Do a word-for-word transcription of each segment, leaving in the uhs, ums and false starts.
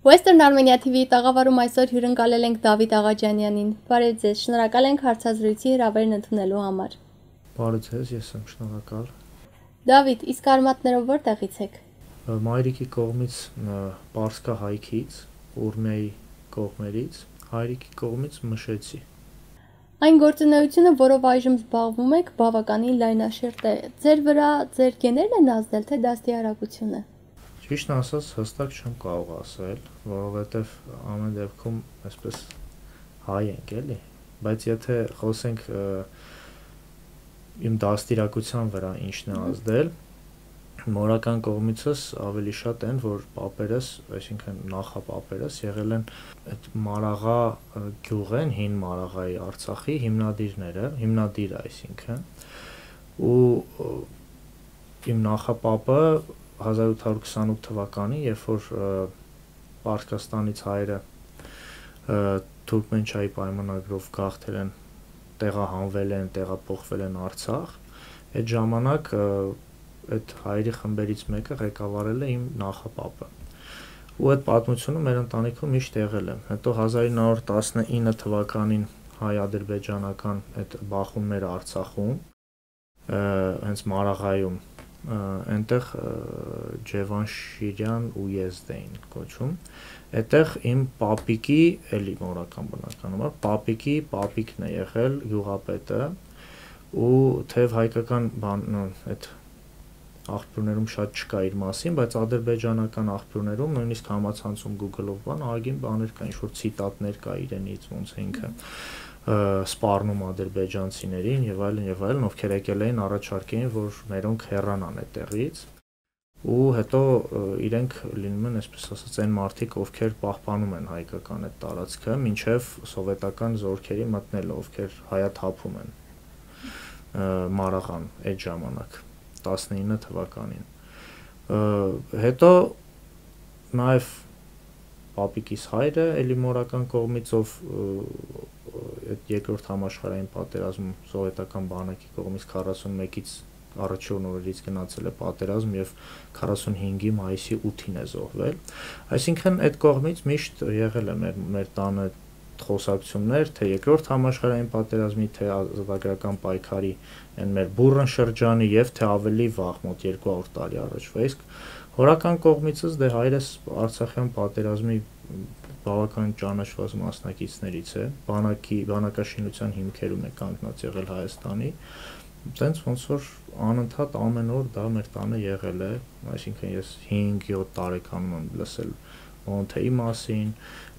Western Armenia T V-ի տաղավարում այսօր հյուրընկալել ենք Դավիթ Աղաջանյանին։ Բարև ձեզ, շնորհակալ ենք հարցազրույցի հրավերն ընդունելու համար։ Բարև ձեզ, ես եմ շնորհակալ։ Դավիթ, իսկ արմատներով որտեղից եք։ Մայրիկի կողմից Պարսկա հայքից, Ուրմիայի կողմերից, հայրիկի կողմից Մշեցի։ Այն գործունեությունը, որով այժմ զբաղվում եք, բավականին լայնաշերտ է։ Ձեր վրա ձեր գեներն են ազդել, թե դաստիարակությունը։ Ճիշտն ասած, հստակ չեմ կարող ասել, որովհետև ամեն դեպքում այսպես հայ ենք, էլի, բայց եթե խոսենք իմ դաստիարակության վրա ինչն է ազդել, մորական կողմիցս ավելի շատ են, որ պապերս, այսինքն նախապապերս եղել են այդ Մարաղա գյուղեն, հին Մարաղայի Արցախի հիմնադիրները, հիմնադիր այսինքն, ու իմ նախապապը հազար ութ հարյուր քսանութ թվականին, երբ որ Պարսկաստանից հայերը Թուրքմենչայի պայմանագրով գաղթել են, տեղահանվել են, տեղափոխվել են Արցախ, այդ ժամանակ այդ հայերի խմբերից մեկը ղեկավարել է իմ նախապապը։ Ու այդ պատմությունը մեր ընտանիքում միշտ եղել է։ Հետո հազար ինը հարյուր տասնինը թվականին հայ-ադրբեջանական այդ բախումները Արցախում, հենց Մարաղայում, այնտեղ Ջևանշիրյան ուեզդ էին կոչում, այդտեղ իմ պապիկի, էլի մորական բնականաբար, պապիկի պապիկն է եղել գյուղապետը, ու թեև հայկական բան, այդ աղբյուրներում շատ չկա իր մասին, բայց ադրբեջանական աղբյուրներում, նույնիսկ համացանցում Google-ով բան, ահագին բաներ կա, ինչ-որ ցիտատներ կա իրենից, ոնց է ինքը սպառնում ադրբեջանցիներին եւ այլն եւ այլն, ովքեր եկել էին առաջարկեին, որ մերոնք հեռանան այդտեղից, ու հետո իրենք լինում են, այսպես ասած, այն մարդիկ, ովքեր պահպանում են հայկական այդ տարածքը, մինչեւ սովետական զորքերի մտնելը, ովքեր հայաթափում են Մարաղան այդ ժամանակ, տասնինը թվականին։ Հետո նաեւ պապիկիս հայրը, էլի մորական կողմից, ով այդ երկրորդ համաշխարհային պատերազմում սովետական բանակի կողմից քառասունմեկից առաջին օրերից գնացել է պատերազմ եւ քառասունհինգի մայիսի ութին է զոհվել։ Այսինքն այդ կողմից միշտ եղել է մեր մեր տանը խոսակցություններ, թե երկրորդ համաշխարհային պատերազմի, թե ազատագրական պայքարի այն մեր բուրըն շրջանի եւ թե ավելի վաղ, մոտ երկու հարյուր տարի առաջվա։ Իսկ հորական կողմիցս դե հայրս Արցախյան պատերազմի բավական ճանաչված մասնակիցներից է, բանակի բանակաշինության հիմքերում է կանգնած եղել Հայաստանի, տենց ոնց որ անընդհատ ամեն օր դա մեր տանը եղել է, այսինքն ես հինգ-յոթ տարեկանում եմ լսել Մոնթեի մասին,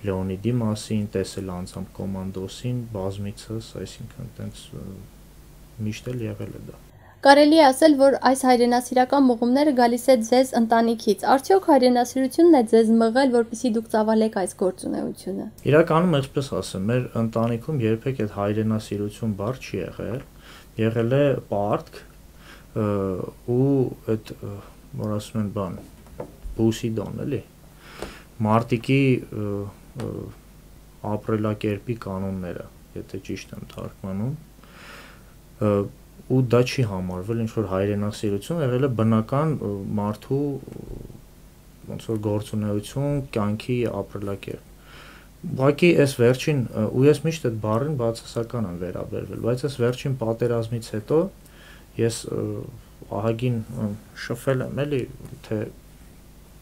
Լեոնիդի մասին, տեսել անձամբ Կոմանդոսին, բազմիցս, այսինքն տենց միշտ էլ եղել է դա։ Կարելի է ասել, որ այս հայրենասիրական մղումները գալիս է ձեզ ընտանիքից։ Արդյոք հայրենասիրությունն է ձեզ մղել, որպեսզի դուք ծավալեք այս գործունեությունը։ Իրականում այսպես ասեմ, մեր ընտանիքում երբեք այդ հայրենասիրություն բառ չի եղել, եղել է պարտք ու այդ որ ասում են բան, բուսիդոն, էլի, մարտիկի ապրելակերպի կանոնները, եթե ճիշտ եմ թարգմանում, ու դա չի համարվել ինչ-որ հայրենասիրություն, եղել է բնական մարդու ոնց որ գործունեություն, կյանքի ապրելակերպ։ Ուղղակի այս վերջին, ու ես միշտ այդ բառին բացասական եմ վերաբերվել, բայց այս վերջին պատերազմից հետո ես ահագին շփվել եմ, էլի, թե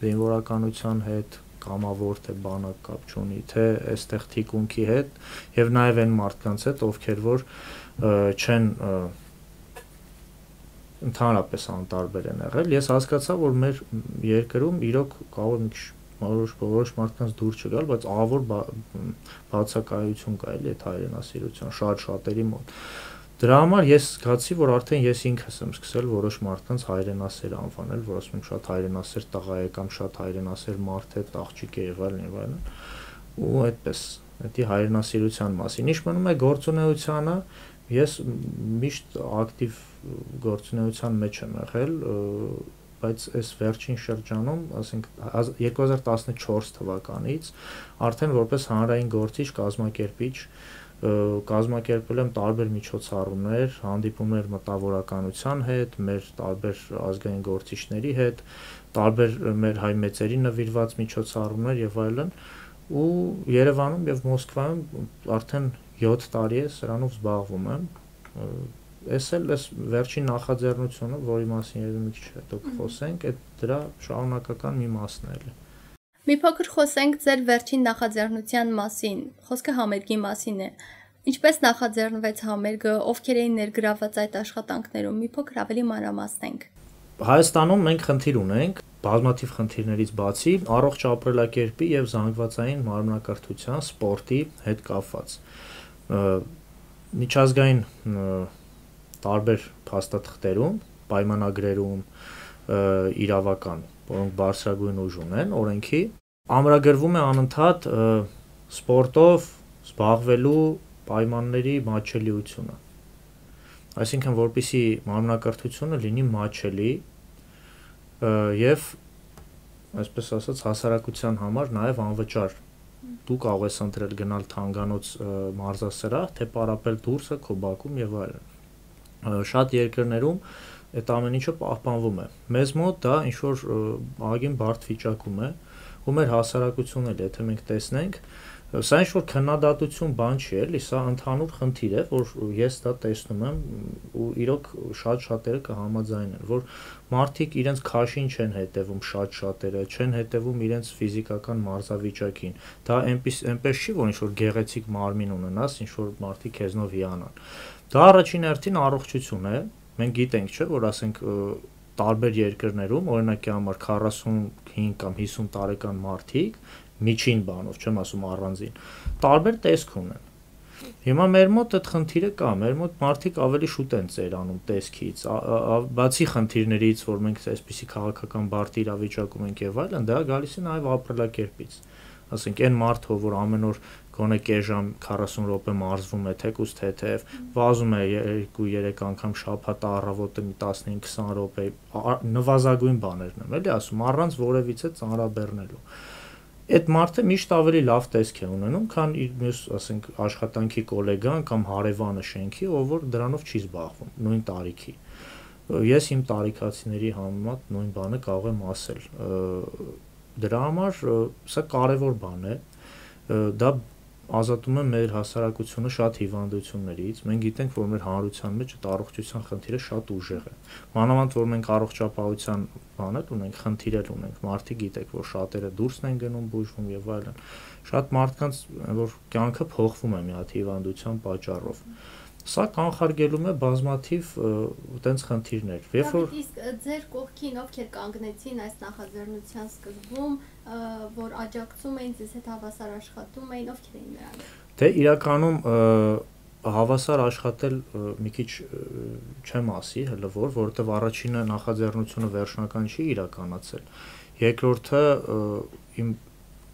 զինվորականության հետ, կամավոր թե բանակ կապ չունի, թե այստեղ թիկունքի հետ, եւ նաեւ այն մարդկանց հետ, ովքեր որ չեն ընդհանրապես անտարբեր են եղել, ես հասկացա, որ մեր երկրում իրոք կարող է որոշ որոշ մարդկանց դուր չգալ, բայց ահավոր բացակայություն կա էլի այդ հայրենասիրության շատ շատերի մոտ։ Դրա համար ես զգացի, որ արդեն ես ինքս եմ սկսել որոշ մարդկանց հայրենասեր անվանել, որ ասում եմ շատ հայրենասեր տղա է կամ շատ հայրենասեր մարդ է, աղջիկ է եւ այլն եւ այլն։ Ու այդպես, դա հայրենասիրության մասին։ Ինչ մնում է գործունեությանը, ես միշտ ակտիվ գործունեության մեջ եմ եղել, բայց այս վերջին շրջանում, ասենք երկու հազար տասնչորս թվականից արդեն որպես հանրային գործիչ, կազմակերպիչ կազմակերպել եմ տարբեր միջոցառումներ, հանդիպումներ մտավորականության հետ, մեր տարբեր ազգային գործիչների հետ, տարբեր մեր հայ մեծերի նվիրված միջոցառումներ եւ այլն, ու Երևանում եւ Մոսկվայում արդեն յոթ տարի է սրանով զբաղվում եմ։ Էս էլ էս վերջին նախաձեռնությունը, որի մասին երևի մի քիչ հետո կխոսենք, այդ դրա շարունակական մի մասն է։ Մի փոքր խոսենք ձեր վերջին նախաձեռնության մասին, խոսքը համերգի մասին է։ Ինչպես նախաձեռնվեց համերգը, ովքեր էին ներգրաված այդ աշխատանքներում, մի փոքր ավելի մանրամասնենք։ Հայաստանում մենք խնդիր ունենք, բազմաթիվ խնդիրներից բացի, առողջ ապրելակերպի եւ զանգվածային մարմնակրթության, սպորտի հետ կապված։ Միջազգային տարբեր փաստաթղթերում, պայմանագրերում, իրավական, որոնք բարձրագույն ուժ ունեն օրենքի, ամրագրվում է անընդհատ սպորտով զբաղվելու պայմանների մատչելիությունը։ Այսինքն, որպեսզի մարմնակրթությունը լինի մատչելի եւ, այսպես ասած, հասարակության համար նաեւ անվճար։ Դու կարող ես ընտրել գնալ թանգանոց մարզասրահ, թե պարապել դուրսը քո բակում եւ այլն։ Շատ երկրներում այդ ամեն ինչը պահպանվում է։ Մեզ մոտ դա ինչ որ ահագին բարդ վիճակում է, ու մեր հասարակությունն էլ, եթե մենք տեսնենք, սա ինչ որ քննադատություն բան չի, էլի, սա ընդհանուր խնդիր է, որ ես դա տեսնում եմ, ու իրոք շատ շատերը կհամաձայնեն, որ մարդիկ իրենց քաշին չեն հետևում, շատ շատերը չեն հետևում իրենց ֆիզիկական մարզավիճակին։ Դա այնպես այնպես չի, որ ինչ որ գեղեցիկ մարմին ունենաս, ինչ որ մարդիկ քեզնով հիանան։ Դա առաջին հերթին առողջություն է։ Մենք գիտենք, չէ, որ ասենք տարբեր երկրներում, օրինակի համար քառասունհինգ կամ հիսուն տարեկան մարդիկ, միջին բանով, չեմ ասում առանձին, տարբեր տեսք ունեն։ Հիմա մեր մոտ այդ խնդիրը կա, մեր մոտ մարդիկ ավելի շուտ են ծերանում տեսքից, բացի խնդիրներից, որ մենք այսպիսի քաղաքական բարդ իրավիճակում ենք եւ այլն, դա գալիս է նաեւ ապրելակերպից։ Ասենք այն մարդը, որ ամեն օր գոնե կես ժամ քառասուն րոպե մարզվում է թեկուզ թեթև, վազում է երկու-երեք անգամ շաբաթ առավոտը մի տասնհինգ քսան րոպե, նվազագույն բաներն եմ, էլի ասում, առանց որևիցե ծանրաբեռնելու։ Այդ մարդը միշտ ավելի լավ տեսք է ունենում, քան իր մյուս, ասենք, աշխատանքի գոլեգան կամ հարևանը շենքի, ով որ դրանով չի զբաղվում, նույն տարիքի։ Ես իմ տարիքացիների համեմատ նույն բանը կարող եմ ասել։ Դրա համար սա կարևոր բան է, դա ազատում է մեր հասարակությունը շատ հիվանդություններից։ Մենք գիտենք, որ մեր հանրության մեջ այդ առողջության խնդիրը շատ ուժեղ է։ Մանավանդ որ մենք առողջապահության բաներ ունենք, խնդիրեր ունենք, մարդիկ գիտեք, որ շատերը դուրսն են գնում, բուժվում եւ այլն։ Շատ մարդկանց, որ կյանքը փոխվում է մի հատ հիվանդության պատճառով։ Սա կանխարգելում է բազմաթիվ այդպես խնդիրներ։ Երբ որ իսկ ձեր կողքին ովքեր կանգնեցին այս նախաձեռնության սկզբում, որ աջակցում էին, ձեզ հետ հավասար աշխատում էին, ովքեր էին նրանք։ Դե իրականում հավասար աշխատել մի քիչ չեմ ասի, հələ որ, որովհետև առաջինը նախաձեռնությունը վերջնական չի իրականացել։ Երկրորդը իմ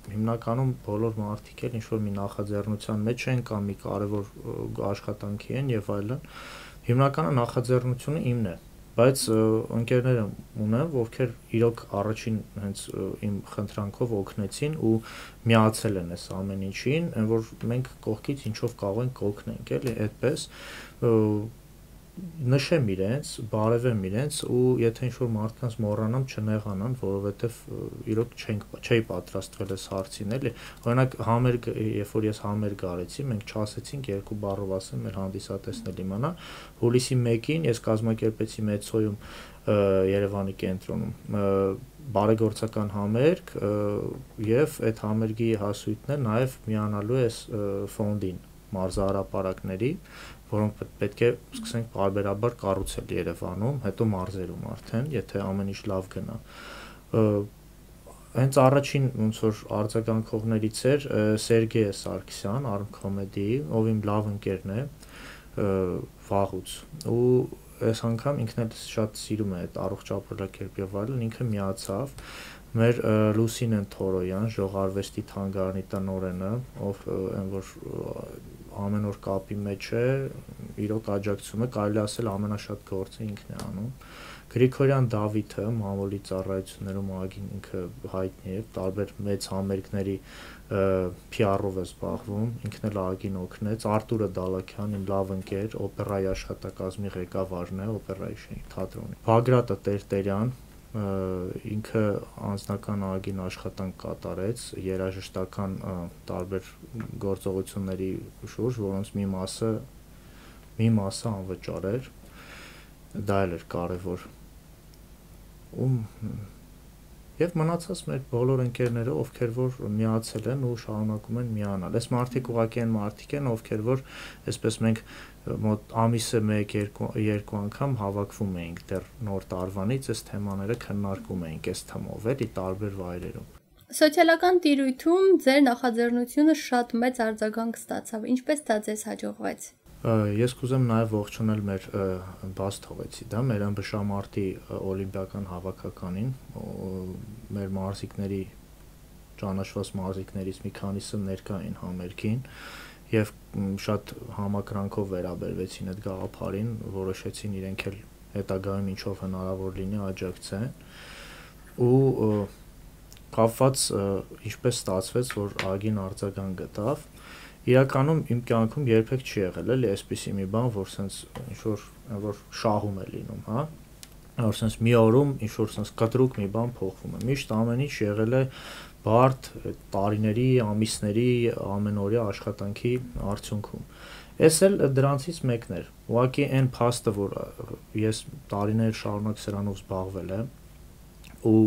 հիմնականում բոլոր մարդիկ էլ ինչ որ մի նախաձեռնության մեջ են կամ մի կարևոր աշխատանքի են եւ այլն, հիմնականը նախաձեռնությունը իմն է, բայց ընկերներ ունեմ, ովքեր իրոք առաջին հենց իմ խնդրանքով օգնեցին ու միացել են այս ամեն ինչին, այն որ մենք կողքից ինչով կարող ենք օգնենք, էլի, այդպես նշեմ իրենց, բարևեմ իրենց ու եթե ինչ-որ մարդկանց մոռանամ չնեղանան, որովհետև իրոք չենք չի պատրաստվել այս հարցին, էլի։ Օրինակ համերգ, երբ որ ես համերգ արեցի, մենք չասեցինք երկու բառով ասեմ, մեր հանդիսատեսն էլ իմանա, հուլիսի մեկին ես կազմակերպեցի Մեծոյում Երևանի կենտրոնում բարեգործական համերգ եւ այդ համերգի հասույթն է նաեւ միանալու է ֆոնդին մարզահրապարակների, որոնք պետք է սկսենք բարբերաբար կառուցել Երևանում, հետո մարզերում արդեն, եթե ամեն ինչ լավ գնա։ Հենց առաջին ոնց որ արձագանքողներից էր Սերգեյ Սարգսյան, Armcomedy, ով իմ լավ ընկերն է, վաղուց։ Ու այս անգամ ինքն էլ շատ սիրում է այդ առողջ ապրելակերպ եւ այլն, ինքը միացավ մեր Լուսինեն Թորոյան, ժողարվեստի թանգարանի տնօրենը, ով այն որ ամեն օր կապի մեջ է, իրոք աջակցում է, կարելի ասել ամենաշատ գործը ինքն է անում։ Գրիգորյան Դավիթը մամուլի ծառայություններում ԱԳ-ին ինքը հայտնի է, տարբեր մեծ համերգների P R-ով է զբաղվում, ինքն էլ ԱԳ-ին օգնեց, Արտուրը Դալաքյան, իմ լավ ընկեր, օպերայի աշխատակազմի ղեկավարն է, օպերայի շենք թատրոնի։ Բագրատը Տերտերյան, ինքը անձնական ԱԳ-ին աշխատանք կատարեց, երաժշտական տարբեր գործողությունների շուրջ, որոնց մի մասը մի մասը անվճար էր, դա էլ էր կարևոր։ Ում Եվ մնացած մեր բոլոր ընկերները, ովքեր որ միացել են ու շարունակում են միանալ։ Այս մարդիկ ուղղակի են մարդիկ են, ովքեր որ այսպես մենք մոտ ամիսը մեկ երկու անգամ հավաքվում էինք դեռ նոր տարվանից, այս թեմաները քննարկում էինք այս թեմով, էլի տարբեր վայրերում։ Սոցիալական տիրույթում ձեր նախաձեռնությունը շատ մեծ արձագանք ստացավ։ Ինչպես դա ձեզ հաջողվեց։ Ես կուզեմ նաև ողջունել մեր բաց թողեցի, դա մեր ըմբշամարտի օլիմպիական հավաքականին, մեր մարզիկների ճանաչված մարզիկներից մի քանիսը ներկա էին համերգին եւ շատ համակրանքով վերաբերվեցին այդ գաղափարին, որոշեցին իրենք էլ հետագայում ինչով հնարավոր լինի աջակցեն ու կապված ինչպես ստացվեց, որ ԱԳ-ին արձագանք գտավ։ Իրականում իմ կյանքում երբեք չի եղել էլի այսպիսի մի բան, որ սենց ինչ-որ որ շահում է լինում, հա, որ սենց մի օրում ինչ-որ սենց կտրուկ մի բան փոխվում է։ Միշտ ամեն ինչ եղել է բարդ տարիների, ամիսների, ամենօրյա աշխատանքի արդյունքում։ Էս էլ դրանցից մեկն էր։ Ուղղակի այն փաստը, որ ես տարիներ շարունակ սրանով զբաղվել եմ ու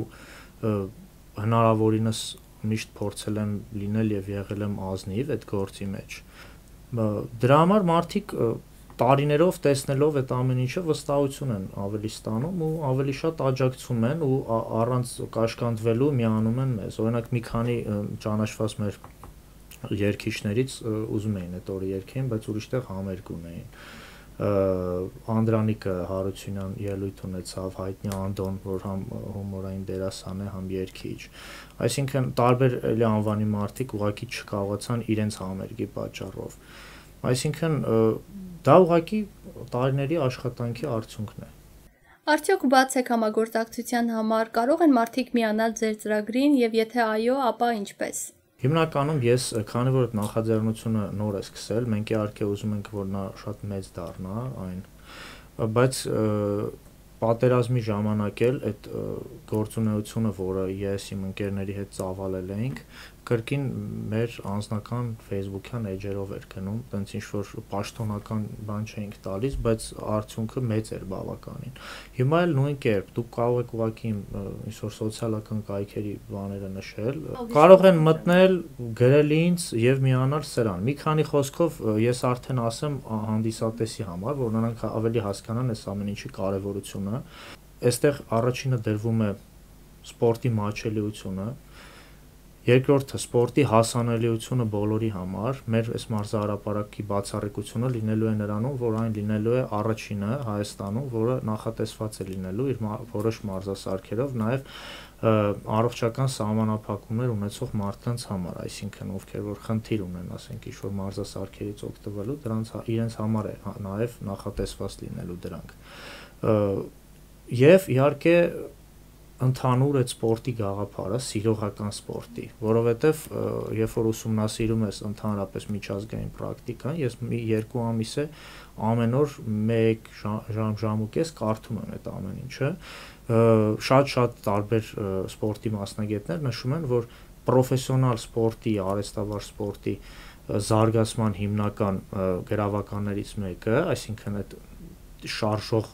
հնարավորինս միշտ փորձել եմ լինել եւ եղել եմ ազնիվ այդ գործի մեջ։ Դրա համար մարդիկ տարիներով տեսնելով այդ ամեն ինչը վստահություն են ավելի ստանում ու ավելի շատ աջակցում են ու առանց կաշկանդվելու միանում են մեզ։ Օրինակ մի քանի ճանաչված մեր երգիչներից ուզում էին այդ օրը երգեն, բայց ուրիշտեղ համերգ ունեին։ Անդրանիկը Հարությունյան ելույթ ունեցավ, հայտնի Անդոն, որ համ հումորային դերասան է, համ երգիչ։ Այսինքն տարբեր էլի անվանի մարդիկ ուղղակի չկարողացան իրենց համերգի պատճառով։ Այսինքն դա ուղղակի տարիների աշխատանքի արդյունքն է։ Արդյոք բաց եք համագործակցության համար, կարող են մարդիկ միանալ ձեր ծրագրին եւ եթե այո, ապա ինչպես։ Հիմնականում ես, քանի որ այդ նախաձեռնությունը նոր է սկսել, մենք իհարկե ուզում ենք, որ նա շատ մեծ դառնա այն, բայց պատերազմի ժամանակ էլ այդ գործունեությունը, որը ես իմ ընկերների հետ ծավալել էինք, կրկին մեր անձնական Facebook-յան էջերով էր գնում, տենց ինչ-որ պաշտոնական բան չէինք տալիս, բայց արդյունքը մեծ էր բավականին։ Հիմա էլ նույն կերպ, դուք կարող եք ուղղակի ինչ-որ սոցիալական կայքերի բաները նշել, կարող են մտնել, գրել ինձ եւ միանալ սրան։ Մի քանի խոսքով ես արդեն ասեմ հանդիսատեսի համար, որ նրանք ավելի հասկանան այս ամեն ինչի կարեւորությունը։ Այստեղ առաջինը դրվում է սպորտի մատչելիությունը, երկրորդը սպորտի հասանելիությունը բոլորի համար, մեր այս մարզահրապարակի բացառիկությունը լինելու է նրանում, որ այն լինելու է առաջինը Հայաստանում, որը նախատեսված է լինելու իր որոշ մարզասարքերով, նաև առողջական սահմանափակումներ ունեցող մարդկանց համար, այսինքն ովքեր որ խնդիր ունեն, ասենք ինչ-որ մարզասարքերից օգտվելու, դրանց իրենց համար է նաև նախատեսված լինելու դրանք։ Եվ իհարկե ընդհանուր այդ սպորտի գաղափարը, սիրողական սպորտի, որովհետև երբ որ ուսումնասիրում ես ընդհանրապես միջազգային պրակտիկան, ես մի երկու ամիս է ամեն օր մեկ ժամ, ժամ ու կես կարդում եմ այդ ամեն ինչը, շատ-շատ տարբեր սպորտի մասնագետներ նշում են, որ պրոֆեսիոնալ սպորտի, արհեստավար սպորտի զարգացման հիմնական գրավականներից մեկը, այսինքն այդ շարժող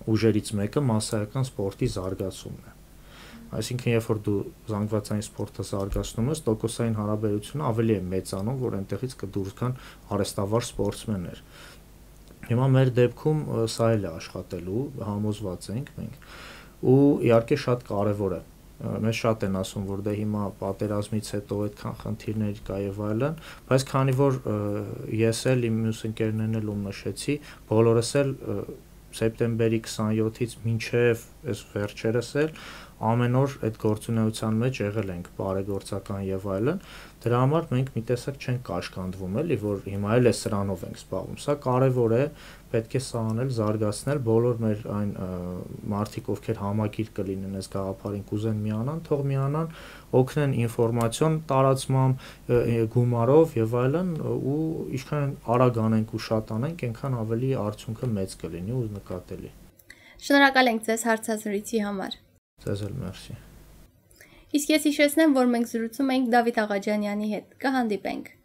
ուժերից մեկը մասսայական սպորտի զարգացումն է։ Այսինքն, երբ որ դու զանգվածային սպորտը զարգացնում ես, տոկոսային հարաբերությունը ավելի է մեծանում, որ այնտեղից կդուրս գան արհեստավար սպորտսմեններ։ Հիմա մեր դեպքում սա էլ է աշխատելու, համոզված ենք մենք, ու իհարկե շատ կարևոր է։ Մեզ շատ են ասում, որ դե հիմա պատերազմից հետո այդքան խնդիրներ կա եւ այլն, բայց քանի որ ես էլ իմ մյուս ընկերներն էլ ում նշեցի, բոլորս էլ սեպտեմբերի քսաներկուից մինչև այս վերջերս էլ ամեն օր այդ գործունեության մեջ եղել ենք, բարեգործական եւ այլն, դրա համար մենք մի տեսակ չենք կաշկանդվում, էլի, որ հիմա էլ է սրանով ենք զբաղվում։ Սա կարեւոր է, պետք է սա անել, զարգացնել, բոլոր մեր այն մարդիկ, ովքեր համակիր կլինեն այս գաղափարին կուզեն միանան, թող միանան, օգնեն ինֆորմացիոն տարածմամբ, գումարով եւ այլն, ու ինչքան արագ անենք ու շատ անենք, այնքան ավելի արդյունքը մեծ կլինի ու նկատելի։ Շնորհակալ ենք ձեզ հարցազրույցի համար։ Ձեզ էլ մերսի։ Իսկ ես հիշեցնեմ, որ մենք զրուցում ենք Դավիթ Աղաջանյանի հետ։ Կհանդիպենք։